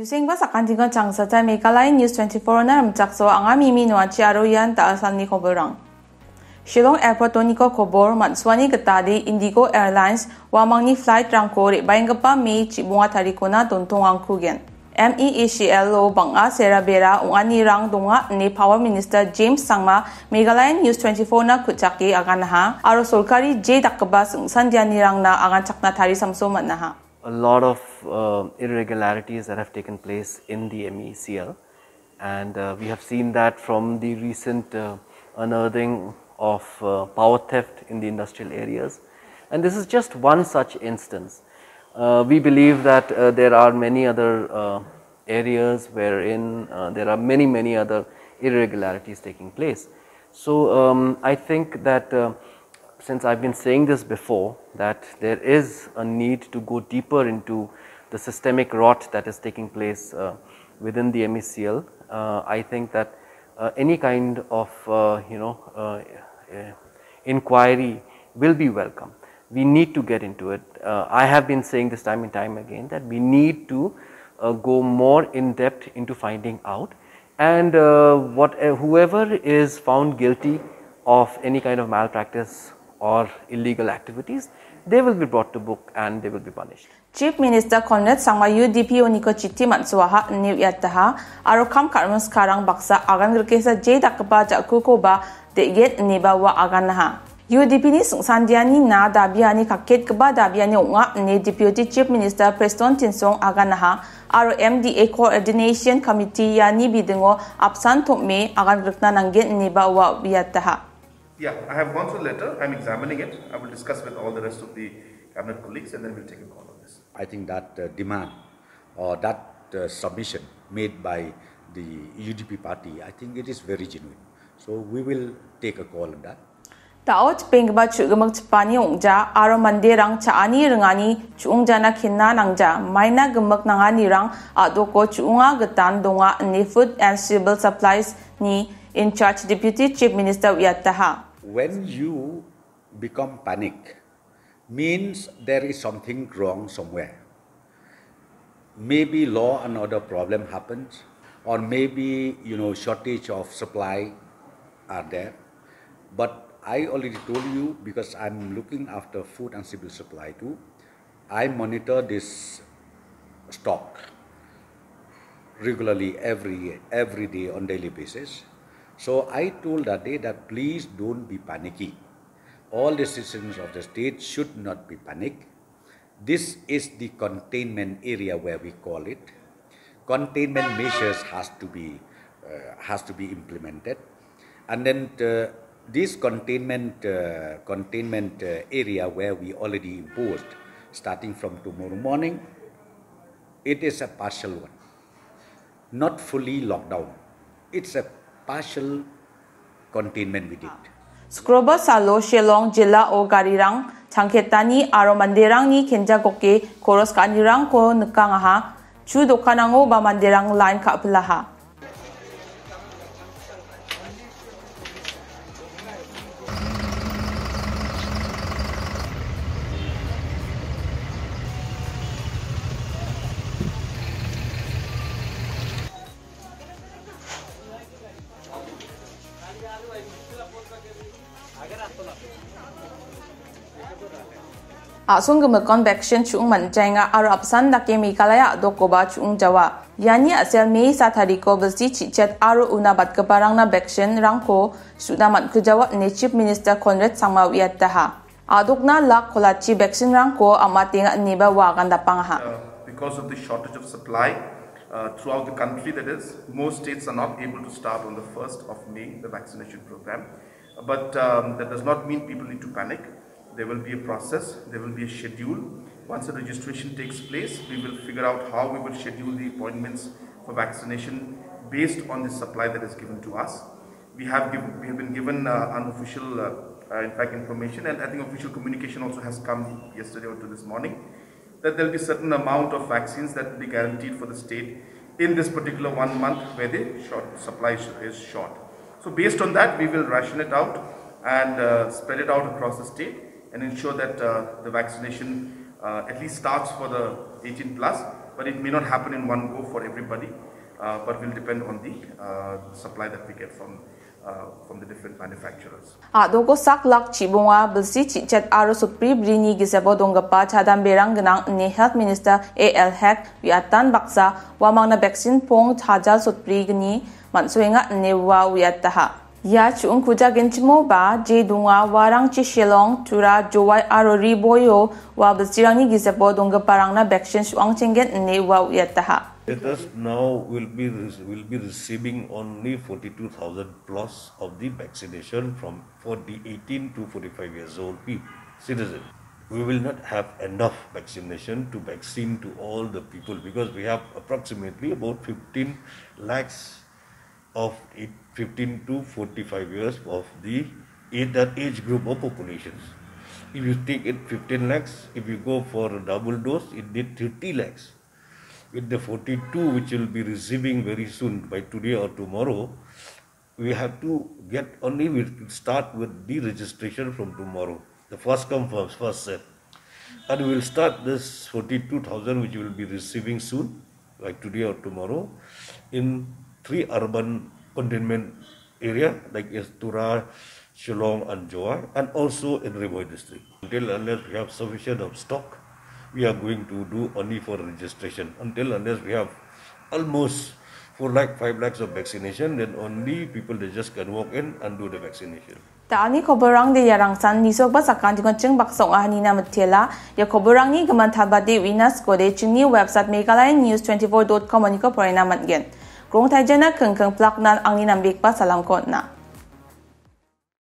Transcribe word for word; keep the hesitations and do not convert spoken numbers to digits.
Yusengba sakantikon changsata Meghalaya News twenty-four-na rimchakso anga Mimi Noachi aro ian da·alsalni koborang. Shillong Airport-oniko kobor, man·suani gitade Indigo Airlines uamangni flight-rangko re·baenggipa May chibonga tarikona dontongangkugen. M E A C L-o bang·a sera bera ong·anirang donga ine Power Minister James Sangma Meghalaya News twenty-four-na ku·chake aganaha aro sorkari je dakgipa singsandianirangna aganchakna tarisamso man·aha. A lot of uh, irregularities that have taken place in the M E C L, and uh, we have seen that from the recent uh, unearthing of uh, power theft in the industrial areas. And this is just one such instance. Uh, we believe that uh, there are many other uh, areas wherein uh, there are many, many other irregularities taking place. So um, I think that uh, since I've been saying this before, that there is a need to go deeper into the systemic rot that is taking place uh, within the M E C L. Uh, I think that uh, any kind of uh, you know uh, uh, inquiry will be welcome. We need to get into it. Uh, I have been saying this time and time again that we need to uh, go more in depth into finding out, and uh, what uh, whoever is found guilty of any kind of malpractice or illegal activities, they will be brought to book and they will be punished. Chief Minister Conrad Sangma U D P-oniko chiti man·suaha ine uiataha aro kam ka·rim sikarang baksa agan grikesa je dakgipa ja·kukoba de·gen ineba ua aganaha. U D P-ni singsandianina dabiani kaketgipa dabiani ong·a ine Deputy Chief Minister Prestone Tynsong aganaha aro M D A Coordination Committee iani bidingo apsan tom·e agan grikna nanggen ineba ua uiataha. Yeah, I have gone through the letter. I'm examining it. I will discuss with all the rest of the cabinet colleagues and then we'll take a call on this. I think that uh, demand or that uh, submission made by the U D P party, I think it is very genuine. So we will take a call on that. Da·o chipenggipa chu·gimik chipani ong·ja aro manderang cha·ani ringani chu·ongjana kenna nangja, maina gimik nanganirang a·doko chu·onga gitan donga ine Food and Civil Supplies-ni in charge Deputy Chief Minister uiataha. When you become panic, means there is something wrong somewhere. Maybe law and order problem happens, or maybe you know shortage of supply are there. But I already told you, because I'm looking after food and civil supply too, I monitor this stock regularly every every day on daily basis. So I told that day that please don't be panicky. All the citizens of the state should not be panicked. This is the containment area where we call it. Containment measures has to be uh, has to be implemented, and then uh, this containment uh, containment uh, area where we already imposed, starting from tomorrow morning, it is a partial one, not fully lockdown. It's a partial containment we did. Sukroba salo Shillong jilao garirang changketani aro manderangni kenjagoke koros ka·anirangko nikangaha. Chu dokanango ba manderang lain ka·pilaha. A·song gimikkon vaccine chu·ong man·jaenga aro apsan dake Meghalaya a·dokoba chu·ong jawa. Iani a·sel May sa tariko bilsi chichet aro una batgiparangna vaccine-rangko su·na man·kujawa ine Chief Minister Conrad Sangma uiataha. A·dokna lak kolachi vaccine-rangko am·atenga ineba ua agandapangaha. Uh, because of the shortage of supply uh, throughout the country, that is, most states are not able to start on the first of May the vaccination program. But um, that does not mean people need to panic. There will be a process, there will be a schedule. Once the registration takes place, we will figure out how we will schedule the appointments for vaccination based on the supply that is given to us. We have, given, we have been given uh, unofficial, uh, uh, in fact, information, and I think official communication also has come yesterday or to this morning, that there will be certain amount of vaccines that will be guaranteed for the state in this particular one month where the short supply is short. So based on that, we will ration it out and uh, spread it out across the state and ensure that uh, the vaccination uh, at least starts for the eighteen plus. But it may not happen in one go for everybody, uh, but will depend on the uh, supply that we get from uh, from the different manufacturers. A·doko sak lak chibonga bilsi chichet aro sotbri brini gisebo donggipa chadamberang gnang ine Health Minister A L Hek uiatan baksa uamangna vaccine pong chajal sotbrigni man·soenga ine ua uiataha. Ia chu·ongkujagenchimoba je donga uarangchi Shillong, Tura, Jowai aro Ri Bhoi-o ua bilsirangni gisebo donggiparangna vaccine su·angchenggen ine ua uiataha. Let us now will be will be receiving only forty-two thousand plus of the vaccination from for the eighteen to forty-five years old people, citizen. We will not have enough vaccination to vaccine to all the people because we have approximately about fifteen lakhs of it, fifteen to forty-five years of the age, that age group of populations. If you take it fifteen lakhs, if you go for a double dose, it need thirty lakhs. With the forty-two which will be receiving very soon by today or tomorrow, we have to get only, we start with the registration from tomorrow. The first come first, first serve. And we will start this forty-two thousand which we will be receiving soon, like today or tomorrow, in three urban containment area like is Tura, Shillong and Jowai, and also in Ri Bhoi district. Until unless we have sufficient of stock, we are going to do only for registration. Until unless we have almost four lakh, five lakhs of vaccination, then only people they just can walk in and do the vaccination. Da·alni koborang de iarangsan nisokba sakantikon ching baksa ong·a hanina mitela. Ia koborangni gimin talbade uina skode chingni website meghalaya news twenty-four dot com oniko porena man·gen. Krong taijana kengkeng plaknan angni nambekba salamko on·a.